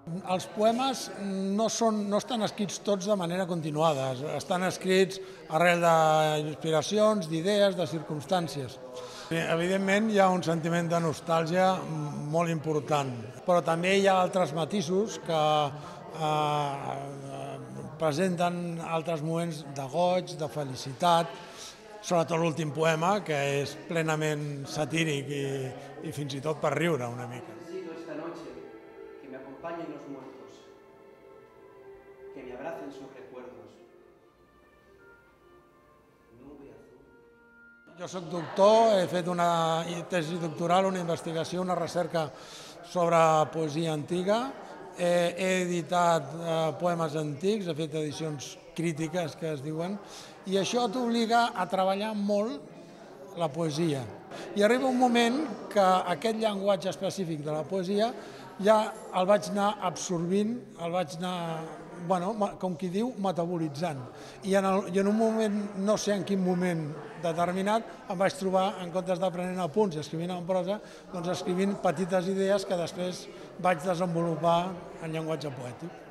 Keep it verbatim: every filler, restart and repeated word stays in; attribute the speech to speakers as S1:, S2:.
S1: Els poemes no, són, no estan escrits tots de manera continuada, estan escrits arrel d'inspiracions, d'idees, de circumstàncies. Evidentment hi ha un sentiment de nostàlgia molt important, però també hi ha altres matisos que eh, presenten altres moments de goig, de felicitat, sobretot l'últim poema, que és plenament satíric i, i fins i tot per riure una mica.
S2: Necesito esta noche que me acompañen los muertos, que me abracen sus recuerdos. Nube azul.
S1: Jo soc doctor, he fet una tesi doctoral, una investigació, una recerca sobre poesia antiga. He, he editat eh, poemes antics, he fet edicions crítiques, que es diuen, i això t'obliga a treballar molt la poesia. I arriba un moment que aquest llenguatge específic de la poesia ja el vaig anar absorbint, el vaig anar, bueno, com qui diu, metabolitzant. I en, el, I en un moment, no sé en quin moment determinat, em vaig trobar, en comptes d'aprenent apunts i escrivint en prosa, doncs escrivint petites idees que després vaig desenvolupar en llenguatge poètic.